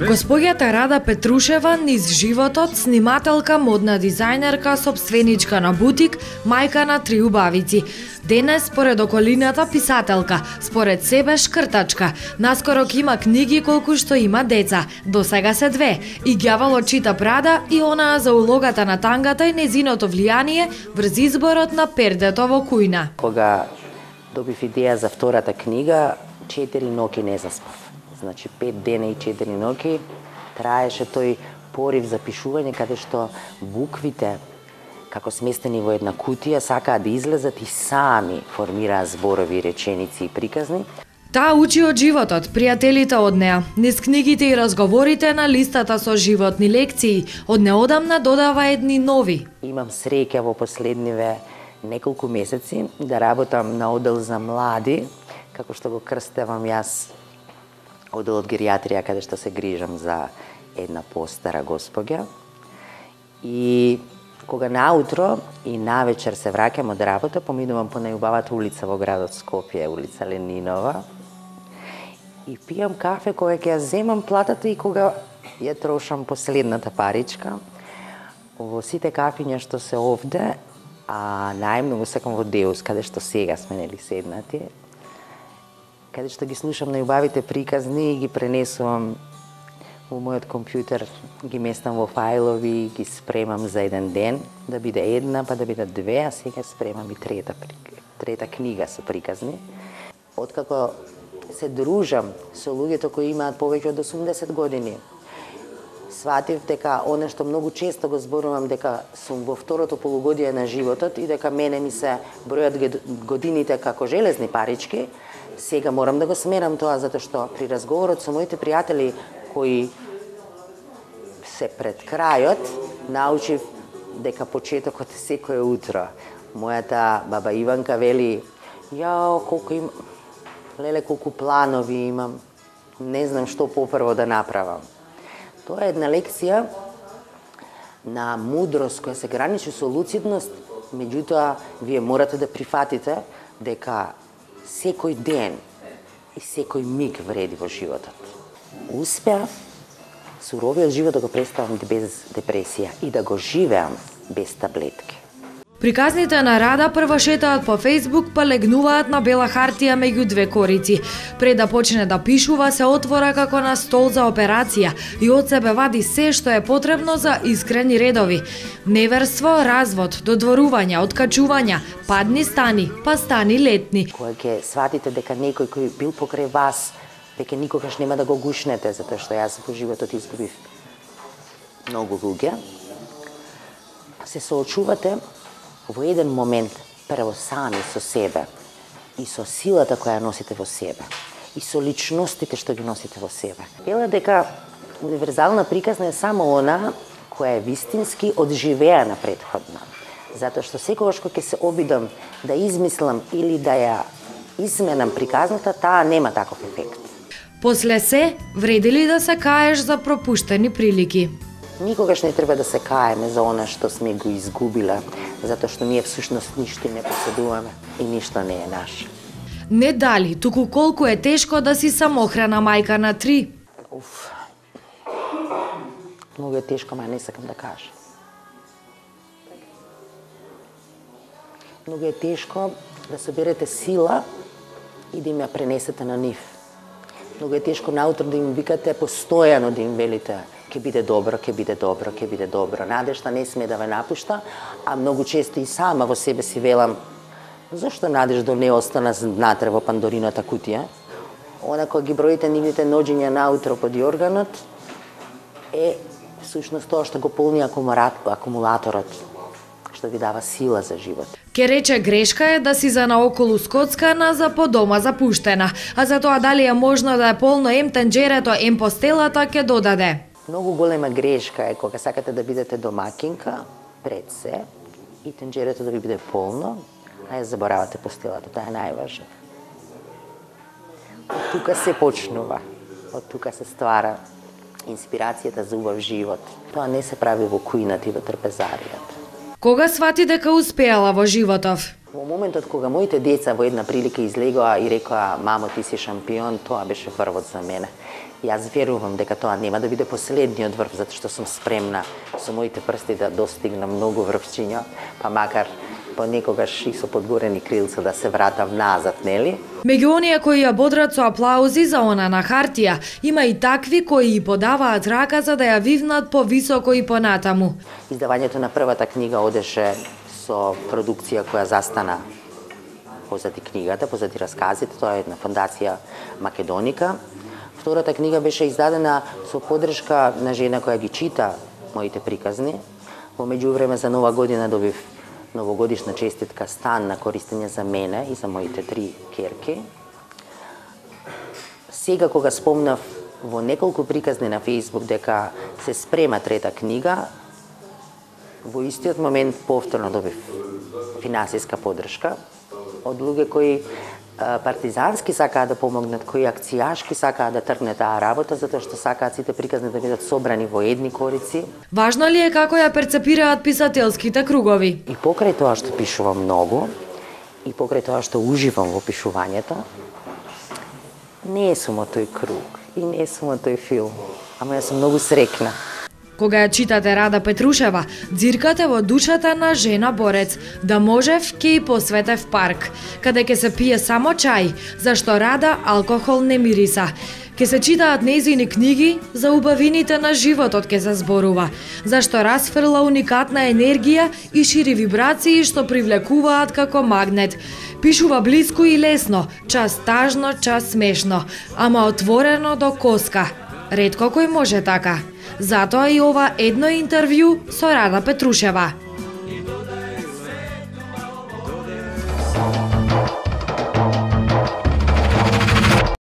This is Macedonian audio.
Госпоѓата Рада Петрушева низ животот, снимателка, модна дизајнерка, собственичка на бутик, мајка на 3 убавици. Денес, според околината, писателка, според себе шкртачка. Наскоро има книги колку што има деца, до сега се 2. И ѓаволот чита Прада и онаа за улогата на тангата и незиното влијание врз изборот на пердето во кујна. Кога добив идеја за втората книга, 4 ноќи не заспав. Значи 5 дена и 4 ноќи траеше тој порив за пишување, каде што буквите, како сместени во една кутија, сакаат да излезат и сами формираат зборови, реченици и приказни. Таа учи од животот, пријателите од неа, низ книгите и разговорите на листата со животни лекции, од неодамна додава едни нови. Имам среќа во последниве неколку месеци да работам на одел за млади, како што го крстевам јас, оделот геријатрија, каде што се грижам за една постара госпоѓа. И кога наутро и навечер се враќам од работа, поминувам по најубавата улица во градот Скопје, улица Ленинова, и пијам кафе кога ќе ја земам платата и кога ја трошам последната паричка. Во сите кафиња што се овде, а најмногу секам во Деус, каде што сега сме нели седнати, каде што ги слушам најубавите приказни и ги пренесувам во мојот компјутер, ги местам во фајлови, ги спремам за еден ден, да биде една, па да биде 2, а сега спремам и трета книга со приказни. Откако се дружам со луѓето кои имаат повеќе од 80 години, сватив дека оно што многу често го зборувам, дека сум во второто полугодие на животот и дека мене ми се бројат годините како железни парички, сега морам да го смерам тоа, затоа што при разговорот со моите пријатели кои се пред крајот, научив дека почетокот е секое утро. Мојата баба Иванка вели: "Јао, колку има, леле, колку планови имам, не знам што попрво да направам." Тоа е една лекција на мудрост која се граничи со луцидност, меѓутоа вие морате да прифатите дека секој ден и секој миг вреди во животот. Успеав суровиот живот да го представам без депресија и да го живеам без таблетки. Приказните на Рада прво шетаат по Фејсбук, па легнуваат на бела хартија меѓу 2 корици. Пред да почне да пишува, се отвора како на стол за операција и од себе вади се што е потребно за искрени редови. Неверство, развод, додворувања, откачувања, падни стани, па стани летни. Кога ќе сватите дека некој кој бил покрај вас, дека никогаш нема да го гушнете, затоа што јас во животот изгубив многу луѓе, се соочувате во еден момент прво сами со себе и со силата која носите во себе и со личностите што ги носите во себе. Вела дека универзална приказна е само она која е вистински одживеана претходно. Затоа што секогаш кога ќе се обидам да измислам или да ја изменам приказната, таа нема таков ефект. После се, вреди ли да се каеш за пропуштени прилики? Никогаш не треба да се каеме за она што сме го изгубиле, затоа што ние всушност ништо не поседуваме и ништо не е наше. Не дали, туку колку е тешко да си самохрана мајка на 3. Многу е тешко, ма не сакам да кажам. Многу е тешко да соберете сила и да им ја пренесете на нив. Многу е тешко наутро да им викате постојано, да им велите: ќе биде добро, ќе биде добро, ќе биде добро. Надежта не сме да ве напушта, а многу често и сама во себе си велам: зошто Надежда не остана внатре во Пандорината кутија? Она кога ги броите нивните ноѓења наутро под јорганот, е всушност тоа што го полни акумулаторот, што ви дава сила за живот. Ке рече грешка е да си за наоколу скоцкана, за по дома запуштена, а за тоа дали е можно да е полно ем тенџерето, ем постелата, ке додаде. Многу голема грешка е кога сакате да бидете домакинка пред се и тенџерето да ви биде полно, а ја заборавате постелата, тоа е најважно. Од тука се почнува, од тука се ствара инспирацијата за убав живот. Тоа не се прави во кујната и во трпезаријата. Кога свати дека успеала во животов? Во моментот кога моите деца во една прилика излегоа и рекоа: "Мамо, ти си шампион", тоа беше врвот за мене. Јас верувам дека тоа нема да биде последниот врв, затоа што сум спремна со моите прсти да достигнам многу врвчиња, па макар понекогаш и со подгорени крилца да се вратам назад, нели? Меѓу оние кои ја бодрат со аплаузи за она на хартија, има и такви кои ја подаваат рака за да ја вивнат повисоко и понатаму. Издавањето на првата книга одеше со продукција која застана позади книгата, позади расказите, тоа е една фондација Македоника. Втората книга беше издадена со поддршка на жена која ги чита моите приказни. Во меѓувреме за Нова година добив новогодишна честитка стан на користење за мене и за моите 3 ќерки. Сега кога спомнав во неколку приказни на Facebook дека се спрема трета книга, во истиот момент повторно добив финансиска поддршка од луѓе кои партизански сакаат да помогнат, кои акцијашки сакаат да тргне таа работа, затоа што сакаат сите приказни да бидат собрани во едни корици. Важно ли е како ја перцепираат писателските кругови? И покрај тоа што пишувам многу, и покрај тоа што уживам во пишувањето, не сум од тој круг и не сум од тој филм, ама јас сум многу срекна. Кога ја читате Рада Петрушева, дзиркате во душата на жена борец, да можев ќе и посветев парк, каде ќе се пие само чај, зашто Рада алкохол не мириса. Ке се читаат нејзини книги, за убавините на животот ке се зборува, зашто расфрла уникатна енергија и шири вибрации што привлекуваат како магнет. Пишува блиско и лесно, час тажно, час смешно, ама отворено до коска. Ретко кој може така. Затоа и ова едно интервју со Рада Петрушева.